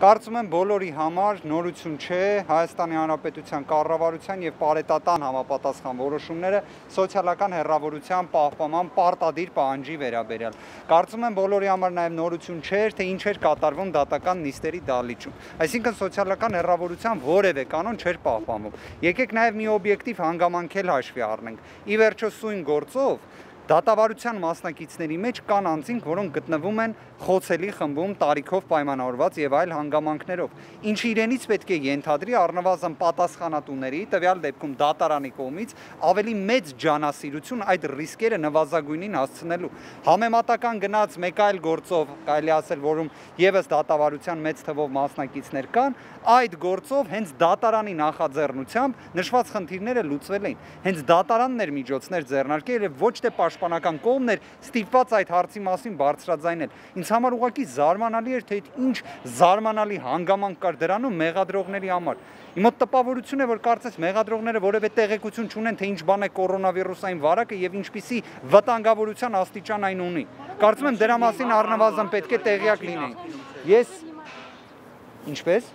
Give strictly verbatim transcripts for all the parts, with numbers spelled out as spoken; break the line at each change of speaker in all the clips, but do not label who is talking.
Կարծում եմ բոլորի համար նորություն չէ Հայաստանի Հանրապետության կառավարության եւ պարետատան համապատասխան որոշումները սոցիալական հեռավորության պահպանման պարտադիր պահանջի վերաբերյալ։ Կարծում եմ բոլորի համար նաեւ նորություն չէր, թե ինչ էր կատարվում դատական նիստերի դահլիճում։ Այսինքն սոցիալական հեռավորության որևէ կանոն չէր պահպանվում։ Եկեք նաեւ մի օբյեկտիվ հանգամանք էլ հաշվի առնենք։ Ի վերջո սույն գործով դատավարության մասնակիցների մեջ կան անձինք, որոնք գտնվում են խոցելի խմբում տարիքով պայմանավորված եւ այլ հանգամանքներով, ինչը իրենից պետք է ենթադրի առնվազն պատասխանատուների, տվյալ դեպքում դատարանի կողմից ավելի մեծ ջանասիրություն այդ ռիսկերը նվազագույնին հասցնելու։ Համեմատական գնաց մեկ այլ գործով, կարելի ասել, որում եւս դատավարության մեծ թվով մասնակիցներ կան, այդ գործով հենց դատարանի նախաձեռնությամբ նշված խնդիրները լուծվել էին։ Հենց դատարանն էր միջոցներ ձեռնարկել եւ ոչ թե պաշտպանական կողմն էր ստիպված այդ հարցի մասին բարձրաձայնել։ Ինձ համար ուղղակի զարմանալի էր, թե ինչ զարմանալի հանգամանք կար դրանում մեղադրողների համար։ Իմ մոտ տպավորություն է, որ կարծես մեղադրողները որևէ տեղեկություն չունեն, թե ինչ բան է կորոնավիրուսային վարակը եւ ինչպիսի վտանգավորության աստիճան այն ունի։ Կարծում եմ դրա մասին առնվազն պետք է տեղյակ լինեին։ Ես ինչպես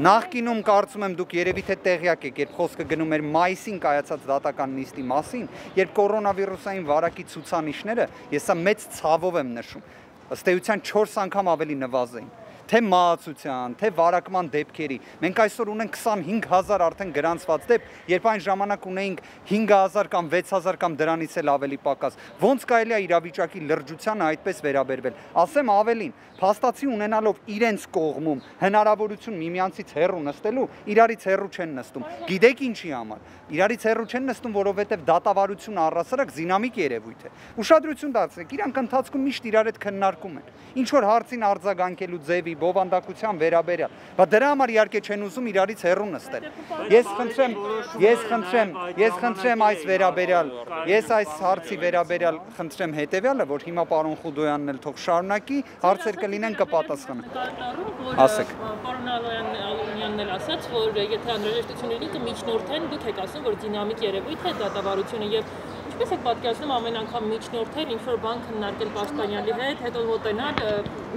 Նախկինում կարծում եմ դուք երևի թե տեղյակ եք, երբ խոսքը գնում էր մայիսին կայացած դատական նիստի մասին, երբ կորոնավիրուսային վարակի ցուցանիշները, ես սա մեծ ցավով եմ նշում, ըստ էության չորս անգամ ավելի նվազ էին, թե մահացության, թե վարակման դեպքերի։ Մենք այսօր ունենք քսանհինգ հազար արդեն գրանցված դեպք, երբ այն ժամանակ ունեինք հինգ հազար կամ վեց հազար կամ դրանից էլ ավելի պակաս։ Ոնց կարելի է իրավիճակի լրջությանը այդպես վերաբերվել։ Ասեմ ավելին, փաստացի ունենալով իրենց կողմում հնարավորություն միմյանցից հեռու նստելու, իրարից հեռու չեն նստում։ Գիտեք ինչի համար։ Իրարից հեռու չեն նստում, որովհետև դատավարությունը առհասարակ զինամիկ երևույթ է։ Ուշադրություն դարձրեք, իրանք ընթացքում միշտ իրար հետ քննարկում են։ Ինչ որ հարցին արձագանքելու ձևի, բովանդակության վերաբերյալ, բայց դրա համար իհարկե չեն ուզում իրարից հեռու նստել։ Ես խնդրեմ, ես խնդրեմ, ես խնդրեմ այս վերաբերյալ, ես այս հարցի վերաբերյալ խնդրեմ հետեւյալը, որ հիմա պարոն Խուդոյանն էլ թող շարունակի, հարցեր կլինեն կպատասխանեն։ Ասեք։
Պարոն Ալունյանն էլ ասաց, որ եթե անհրաժեշտություն լինի կմիջնորդեն, դուք եք ասում, որ դինամիկ երևույթ է դատավարությունը եւ ինչպես եք պատկերացնում ամեն անգամ միջնորդել, ինչ որ բան քննարկել Պաշտպանյանի հետ, հետո մոտենալ,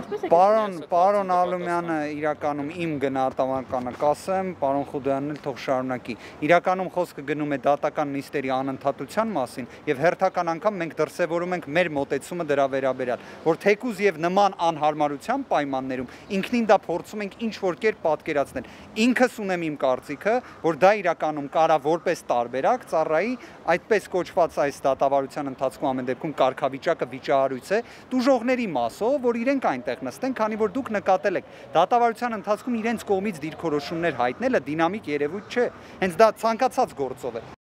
ինչպես եք
Պարոն, պարոն Ալումյանը իրականում իմ գնահատականը կասեմ, պարոն Խուդոյանն էլ թող շարունակի։ Իրականում խոսքը գնում է դատական նիստերի անընդհատության մասին եւ հերթական անգամ մենք դրսեւորում ենք մեր մոտեցումը դրա վերաբերյալ, որ թեկուզ եւ նման անհարմարության պայմաններում ինքնին դա փորձում ենք ինչ որ կերպ պատկերացնել։ Ինքս ունեմ իմ կարծիքը, որ դա իրականում կարա որպես տարբերակ ծառայի այդպես կոչված այս դատավարության ընթացքում ամեն դեպքում կարգավիճակը վիճահարույց է տուժողների մասով, որ իրենք այնտեղ նստեն, քանի որ դուք նկատել եք դատավարության ընթացքում իրենց կողմից դիրքորոշումներ հայտնելը դինամիկ երևույթ չէ, հենց դա ցանկացած գործով է։